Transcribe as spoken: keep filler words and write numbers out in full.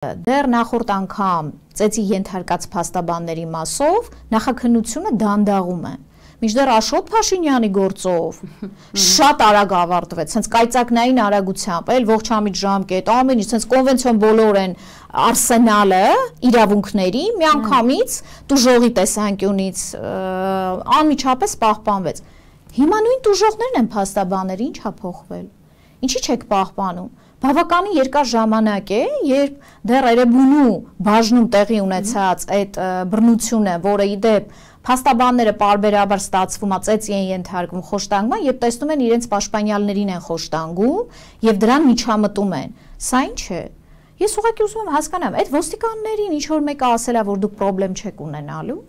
Դեռ նախորդ անգամ ծեծի ենթարկած փաստաբանների մասով նախաքննությունը դանդաղում է։ Մինչդեռ Աշոտ Փաշինյանի գործով շատ արագ ավարտվեց, հենց կայծակնային արագությամբ, էլ ողջամիտ ժամկետ, ամեն ինչ, հենց կոնվենցիոն բոլոր են արսենալը իրավունքների միանգամից տուժողի տեսանկյունից անմիջապես պահպանվեց։ Հիմա նույն տուժողներն են փաստաբանները, ինչ ա փոխվել։ Ինչի՞ չեք պահպանում։ Բավականին երկար ժամանակ է, երբ դեռ Էրեբունու բաժնում տեղի ունեցած այդ բռնությունը, որը ի դեպ փաստաբանները պարբերաբար ստացվում է, ծեծի են ենթարկվում խոշտանգման, եւ տեսնում են իրենց պաշտպանյալներին են խոշտանգում եւ դրան միջամտում են։ Սա ինչ է։ Ես ուղղակի ուզում եմ հասկանամ, այդ ոստիկաններին ինչ որ մեկը ասել է, որ դուք խնդրեմ չեք ունենալու։